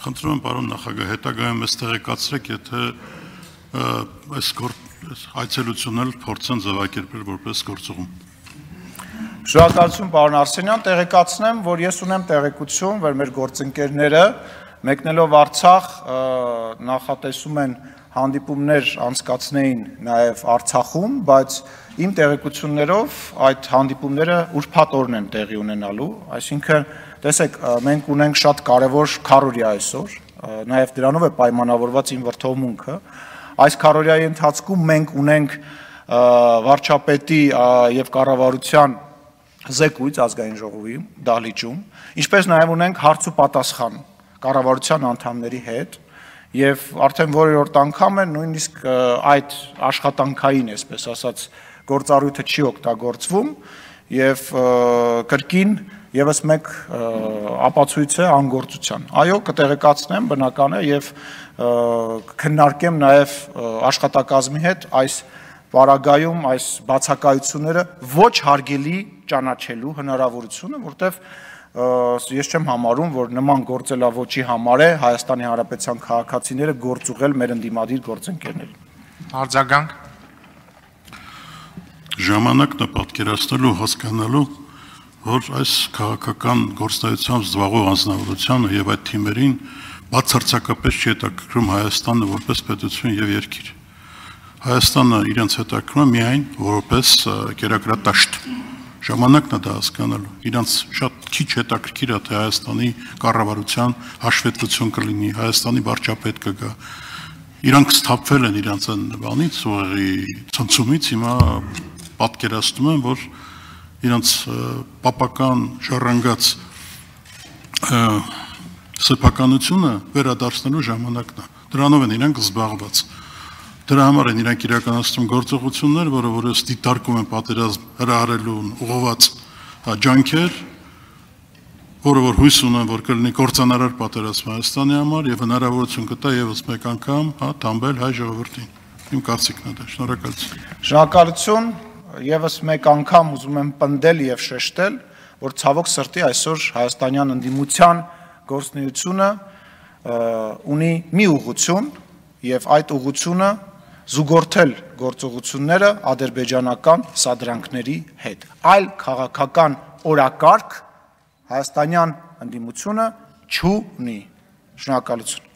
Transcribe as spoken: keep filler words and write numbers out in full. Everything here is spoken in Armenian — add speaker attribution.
Speaker 1: Խնդրում եմ պարոն նախագահ, հետագայում ես տեղեկացրեք, եթե այս այցելությունն էլ փորձեն ձևակերպել որպես գործուղում։
Speaker 2: Շնորհակալություն պարոն Արսենյան, տեղեկացնեմ, որ ես ունեմ տեղեկություն, որ մեր գործընկերները մեկնելով Արցախ նախատեսում են հանդիպումներ անցկացնեին նաև Արցախում, բայց իմ տեղեկություններով այդ հանդիպումները ուրբաթ օրն են տեղի ունենալու, այսինքն տեսեք, մենք ունենք շատ կարևոր քառորյա այսօր, նաև դրանով է պայմանավորված իմ վրթովմունքը, այս քառորյայի ընթացքում մենք ունենք վարչապետի եւ կառավարության զեկույց ազգային ժողովի դահլիճում, ինչպես նաև ունենք հարց ու պատասխան կառավարության անդամների հետ եւ արդեն որերորդ անգամ է նույնիսկ այդ աշխատանքային, այսպես ասած, գործառույթը չի օգտագործվում եւ կրկին եւս մեկ ապացույց է անգործության։ Այո, կտեղեկացնեմ, բնական է եւ քննարկեմ նաեւ աշխատակազմի հետ այս պարագայում այս բացակայությունները ոչ հարգելի ճանաչելու հնարավորությունը, որտեվ ես չեմ համարում, որ նման գործելավոճի համար է Հայաստանի Հանրապետության քաղաքացիները գործուղել մեր ընդդիմադիր գործընկերներին։
Speaker 3: Արձագանք։
Speaker 1: Ժամանակն է պատկերացնելու հասկանալու, որ այս քաղաքական գործնայությամբ զբաղվող անձնավորությանը եւ այդ թիմերին բացարձակապես չի հետաքրքրում Հայաստանը որպես պետություն եւ երկիր։ Հայաստանը իրենց հետաքրքրում է միայն որպես կերակրատաշտ։ Ժամանակն է դա հասկանալու։ Իրանց շատ քիչ հետաքրքիր է, թե Հայաստանի կառավարության հաշվետվություն կլինի, Հայաստանի վարչապետ կգա։ Իրանք սթափվել են իրանց այն բանից, ուղղի ցնցումից, հիմա պատկերացնում եմ, որ իրանց պապական ժառանգած սեփականությունը վերադարձնելու ժամանակն է։ Դրանով են իրանք զբաղված։ Դրա համար են իրանք իրականացնում գործողություններ, որը որս դիտարկում են պատերազմ հրահարելուն ուղղված ջանքեր, որը որ հույս ունեն, որ կլինի կործանարար պատերազմ Հայաստանի համար եւ հնարավորություն կտա եւս մեկ անգամ, հա, թամբել հայ ժողովրդին։ Իմ կարծիքն է դա։ Շնորհակալություն։
Speaker 2: Շնորհակալություն, եւս մեկ անգամ ուզում եմ պնդել եւ շեշտել, որ ցավոք սրտի այսօր հայաստանյան ընդդիմության գործունեությունը ունի մի ուղղություն եւ այդ ուղղությունը զուգորդել գործողությունները ադրբեջանական սադրանքների հետ։ Այլ քաղաքական օրակարգ հայաստանյան ընդդիմությունը չունի։ Շնորհակալություն։